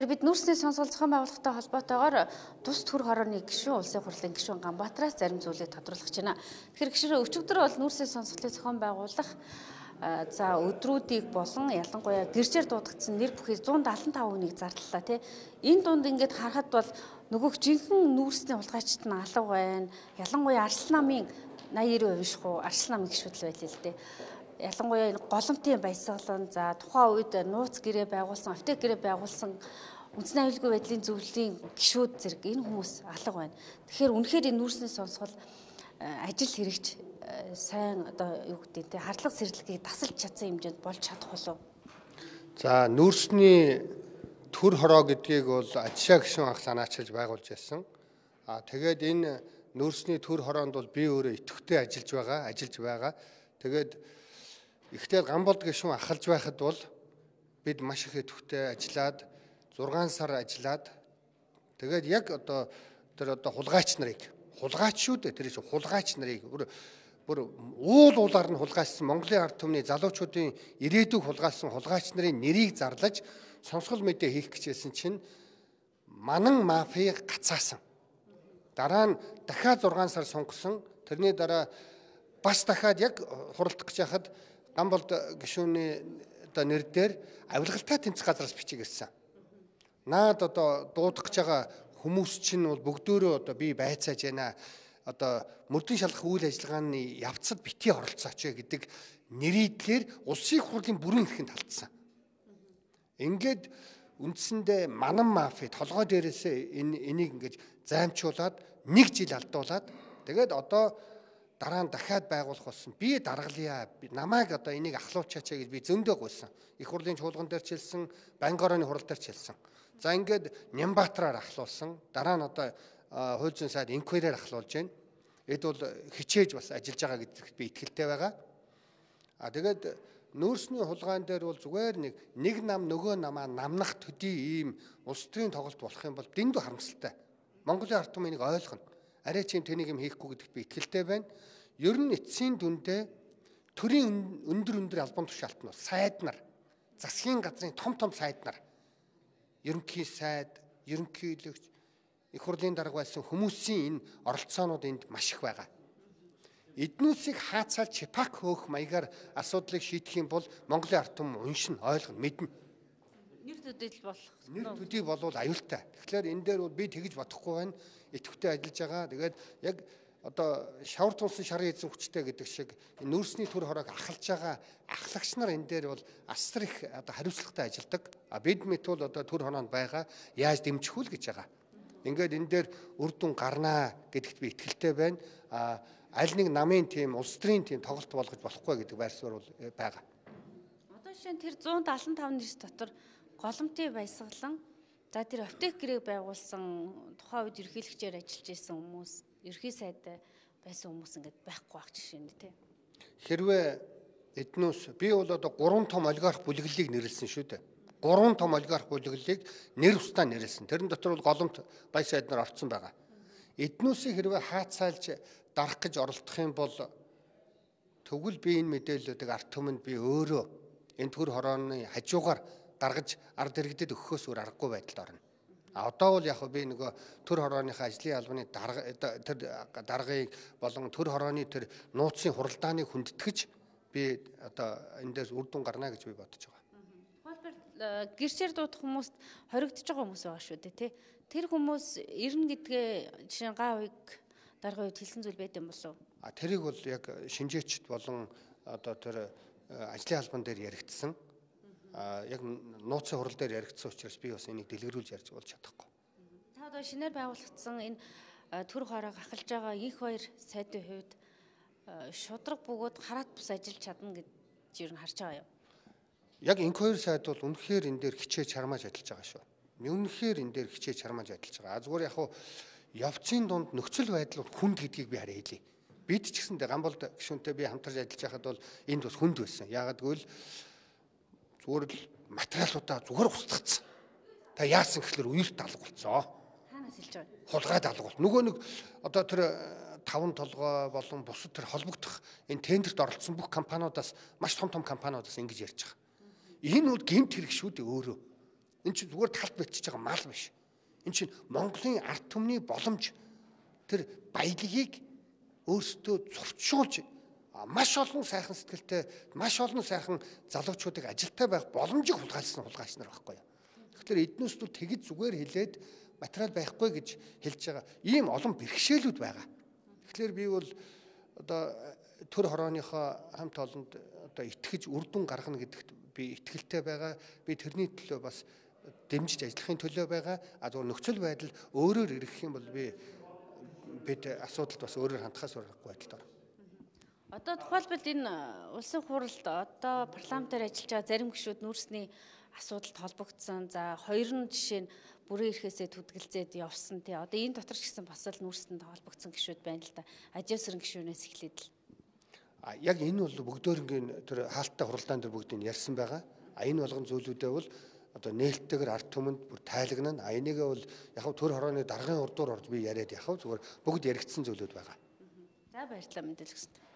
Бид нүүрсний сонсгол зохион байгуулалттай холбоотойгоор тус төр хорооны гишүүн улсын хурлын гишүүн Ганбаатараас зарим зүйлийг тодруулах гэж байна. Тэгэхээр гишүүн өчигдөр бол нүүрсний сонсголыг зохион байгуулах өдрүүдийг болон ялангуяа гэрчээр дуудагдсан нэр бүхий 175 хүнийг зарлалаа тий. Энэ дунд ингээд харахад бол нөгөөх жинхэнэ нүүрсний хулгайчид нь алга байна. Ялангуяа Арслан намын 80-90% биш хуу Арслан намын гишүүд л байлээ л дээ. Ялангуяа энэ голомтын баясгалан тухайн үед нууц гэрээ байгуулсан, аптек гэрээ байгуулсан үндэсний аюулгүй байдлын зөвлөлийн гишүүд зэрэг энэ хүмүүс алга байна. Тэгэхээр үнэхээр энэ нүүрсний сонсгол ажил хэрэгж сайн юу гэдэг те хардлага сэрэлгийг тасалж чадсан хэмжээнд болж чадах болов. За нүүрсний төр хороо гэдгийг бол Ажишаа гишүүн анх санаачилж байгуулж байсан. Тэгээд энэ нүүрсний төр хороонд бол би өөрөө идэвхтэй ажиллаж байгаа. Тэгээд ихтэй Ганболд гишүүн ахалж байхад бол бид маш их идэвхтэй ажиллаад 6 сар ажиллаад тэгээд яг тэр хулгайч нарыг бүр уулаар нь хулгайсан Монголын ард түмний залуучуудын ирээдүйг хулгайлсан хулгайч нарын нэрийг зарлаж сонсгол мэдээ хийх гэжсэн чинь манан мафийг гацаасан. Дараа нь дахиад 6 сар сунгасан. Тэрний дараа бас дахиад яг хуралдах гэж хахад Ганболд гишүүний нэр дээр авилгалтай тэмцэх газраас бичиг ирсэн. Наад дуудах гэж байгаа хүмүүс чинь бол бүгдөө би байцааж байна. Мөрдөн шалгах үйл ажиллагааны явцад битгий оролцооч гэдэг нэрийдлэр улсын хурлын бүрэн эрхэнд алдсан. Ингээд үндсэндээ манан мафи толгой дээрээсээ энийг ингэж займчуулаад 1 жил алдуулаад тэгээд дараа нь дахиад байгуулах болсон. Би даргалъя. Намайг энийг ахлуулчаач гэж би зөндөө гуйсан. Их хурлын чуулган дээр ч хэлсэн, банкны орооны хурал дээр ч хэлсэн. За ингээд Нямбаатараар ахлуулсан. Дараа нь хууль зүйн сайд инквайраар ахлуулж байна. Эд бол хичээж бас ажиллаж байгаа гэдэгт би итгэлтэй байгаа. Тэгээд нүүрсний хулгайн дээр бол зүгээр нэг нам нөгөө намаа намнах төдий ийм улс төрийн тоглолт болох юм бол дэндүү харамсалтай. Монголын ард түмэн энийг ойлгоно. Арай чим тэнийг юм хийхгүй гэдэгт би итгэлтэй байна. Ер нь эцсийн дүндээ төрийн өндөр албан тушаалт нь сайд нар, засгийн газрын том сайд нар, ерөнхий сайд, ерөнхийлөгч, их хурлын дарга байсан хүмүүсийн энэ оролцоонууд энд маш их байгаа. Эднүүсийг хаацаал чипак хөөх маягаар асуудлыг шийдэх юм бол Монголын ард түмэн уншин, ойлгоно, мэднэ. Нэр төдий болвол аюултай. Тэгэхээр энэ дээр би тэгж бодохгүй байна. Идэвхтэй ажиллаж байгаа. Тэгээд яг шавар тулсан шарын эзэн хүчтэй гэдэг шиг нүүрсний төр хороог ахалж байгаа ахлагч нар энэ дээр бол асар их хариуцлагатай ажилладаг. Бид мэт бол төр хороонд байгаа. Яаж дэмжих вэ гэж байгаа. Ингээд энэ дээр үр дүн гарнаа гэдэгт би итгэлтэй байна. Аль нэг намын тим, улс төрийн тим тоглолт болгож болохгүй гэдэг байр суурь бол байгаа. Жишээ нь тэр 175 нэрс дотор голомтын баясгалан тэр аптек гэрээг байгуулсан тухайн үед ерөнхийлөгчээр ажиллаж исэн хүмүүс, ерөнхий сайд байсан хүмүүс ингээд байхгүй байх жишээ нь тий. Хэрвээ эднүүс би бол 3 том олигарх бүлэглэлийг нэрлсэн шүү дээ. 3 том олигарх бүлэглэлийг нэр устаа нэрлсэн. Тэрэн дотор бол голомт баяр сайд нар орцсон байгаа. Эднүүсийг хэрвээ хаацаалж дарах гэж оролдох юм бол тэгвэл би энэ мэдээллүүдийг ард түмэнд би өөрөө энэ төр хорооны хажуугаар гаргаж ард иргэдэд өгөхөөс өөр аргагүй байдалд орно. Одоо бол яг би нөгөө төр хорооныхаа ажлын албаны тэр даргыг болон төр хорооны тэр нууцын хуралдааныг хүндэтгэж би энэ дээр үр дүн гарна гэж би бодож байгаа. Тухайлбал гэрчээр дуудах хүмүүст хоригдож байгаа хүмүүс байгаа шүү дээ тий. Тэр хүмүүс ирнэ гэдгээ жишээ гаавыг даргын үед хэлсэн зүйл байд юм болов. Тэрийг бол яг шинжээчд болон тэр ажлын албан дээр яригдсан. Яг нууцын хурал дээр яригдсан учраас би бас энийг дэлгэрүүлж ярьж болж чадахгүй. Та шинээр байгуулагдсан энэ төр хороог ахалж байгаа их хоёр сайдын хувьд шудраг бөгөөд хараат бус ажиллаж чадна гэж ер нь харж байгаа юм. Яг энэ хоёр сайд бол үнэхээр энэ дээр хичээж чармааж ажиллаж байгаа шүү. Үнэхээр энэ дээр хичээж чармааж ажиллаж байгаа. Зүгээр яг явцын дунд нөхцөл байдал хүнд гэдгийг би хараа хэлье. Бид ч гэсэндээ Ганболд гишүүнтэй би хамтарч ажиллаж байхад бол энд бас хүнд байсан. Яагаад гэвэл зүгээр л материалуудаа зүгээр устгацсан. Та яасан гэхэлэр үерт алга болцоо. Хаанаас хэлж байгаа? Хулгайд алга бол. Нөгөө нэг тэр таван толгой болон бусад тэр холбогдох энэ тендерт оролцсон бүх компаниудаас маш том компаниудаас ингэж ярьж байгаа. Энэ бол гэмт хэрэг шүү дээ өөрөө. Энэ чинь зүгээр талд бичиж байгаа мал биш. Энэ чинь Монголын ард түмний боломж, тэр баялагийг өөрсдөө зурчуулж маш олон сайхан сэтгэлтэй, маш олон сайхан залуучуудыг ажилтай байх боломжийг хулгайлсан хулгайч нар байхгүй юу. Тэгэхээр эднээс нь тэгж зүгээр хэлээд материал байхгүй гэж хэлж байгаа ийм олон бэрхшээлүүд байгаа. Тэгэхээр би бол одоо төр хорооныхоо хамт олонд одоо итгэж үр дүн гаргана гэдэгт би итгэлтэй байгаа. Би тэрний төлөө бас дэмжиж ажиллахын төлөө байгаа. Зөвхөн нөхцөл байдал өөрөөр ирэх юм бол бид асуудалд бас өөрөөр хандхаас урахгүй байдалд орно. Одоо тухайлбал энэ улсын хуралд одоо парламентаар ажиллаж байгаа зарим гишүүд нүүрсний асуудалд холбогдсон. За хоёр нь жишээ нь бүрэн эрхээсээ түдгэлзээд явсан тий. Одоо энэ дотор ч гэсэн бас л нүүрсэнд холбогдсон гишүүд байна л да. Ажиосрын гишүүнээс эхлээд л. Яг энэ бол бүгдөөрингийн тэр хаалттай хуралдаан дээр бүгдийг ярьсан байгаа. Энэ болгон зүйлүүдээ бол одоо нээлттэйгээр ард түмэнд бүр тайлагнана. Энийгээ бол яг хав төр хорооны даргын урдуур орж би яриад яхав зүгээр бүгд яригдсан зүйлүүд байгаа. За баярлалаа мэдээлэл өгсөн.